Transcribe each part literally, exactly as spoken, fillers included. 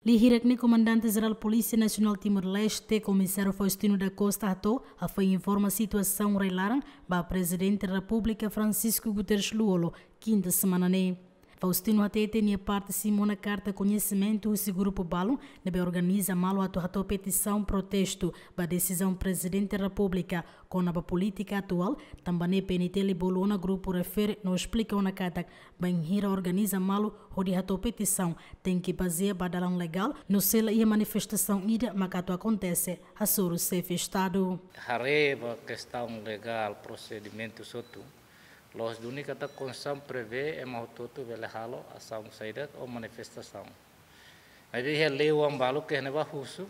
Lia hirak ne'e Komandante Jerál Polísia Nasionál Timor-Leste, Komisáriu Faustino da Costa hato'o, hafoin informa situasaun rai-laran ba Prezidente Repúblika Francisco Guterres Lú-Olo, kinta semana ne'e. Faustino hateten nia parte simu ona karta koñesimentu husi grupu balun ne'ebé organiza malu atu hato'o petisaun protestu ba desizaun Prezidente Repúblika kona-ba polítika atuál, tanba ne'e P N T L bolu ona grupu refere no esplika ona katak bainhira organiza malu hodi hato'o petisaun, tenke bazeia ba dalan legál, no se la iha manifestasaun ida mak atu akontese, hasoru Xefe Estadu. Haree ba kestaun legál, prosedimentu hotu, la'ós duni katak Konstituisaun prevee ema hotu-hotu bele halo asaun saida ou manifestasaun. Maibé iha lei oan balu ke iha ne'ebá husu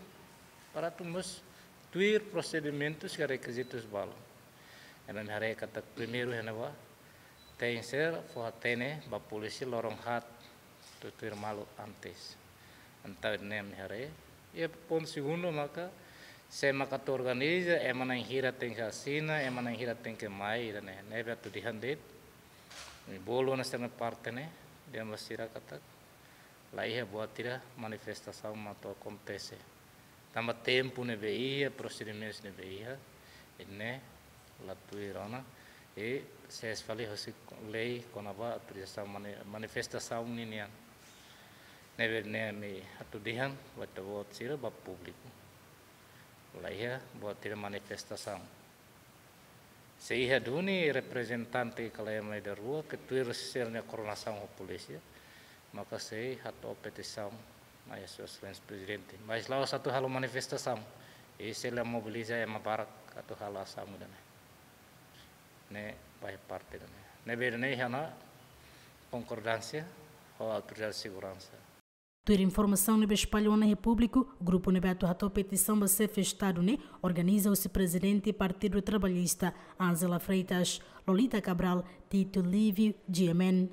para atu mós tuir prosedimentus ka rekizitus balu. Entaun imi haree katak primeiru iha ne'ebá, tenke ser fó-hatene ba polísia loron haat tuir malu antes. Entaun ne'e imi haree. I pontu segundu maka, sé mak atu organiza, ema na'in hira tenke asina, ema na'in hira tenke mai, ida-ne'e. Ne'ebé atu dehan de'it, imi bolu ona sira-nia parte ne'e, dehan ba sira katak la iha buat ida manifestasaun mak atu akontese. Tanba tempu ne'ebé iha, prosedimentus ne'ebé iha, i ne'e la tuir ona, i sees fali husi lei kona-ba autorizasaun mani-, manifestasaun ninian. Ne'ebé ne'e imi atu dehan ba ita-boot sira, ba públiku, la iha buat ida manifestasaun. Se iha duni reprezentante ka lae mai da rua ke tuir sira-nia koordenasaun ho polísia, maka sei hato'o petisaun mai Sua Exelénsia Prezidente. Mas la'ós atu halo manifestasaun, i sei la mobiliza ema barak atu halo asaun ida-ne'e. Ne'e ba iha parte ida-ne'e. Ne'ebé ida-ne'e iha ona konkordánsia ho autoridade seguransa. Tuir informasaun ne'ebé espalla ona iha públiku, grupu ne'ebé atu hato'o petisaun ba Xefe Estadu ne'e organiza husi Prezidente Partidu Trabalhista, Ângela Freitas, Lolita Cabral, Tito Livio, G M N.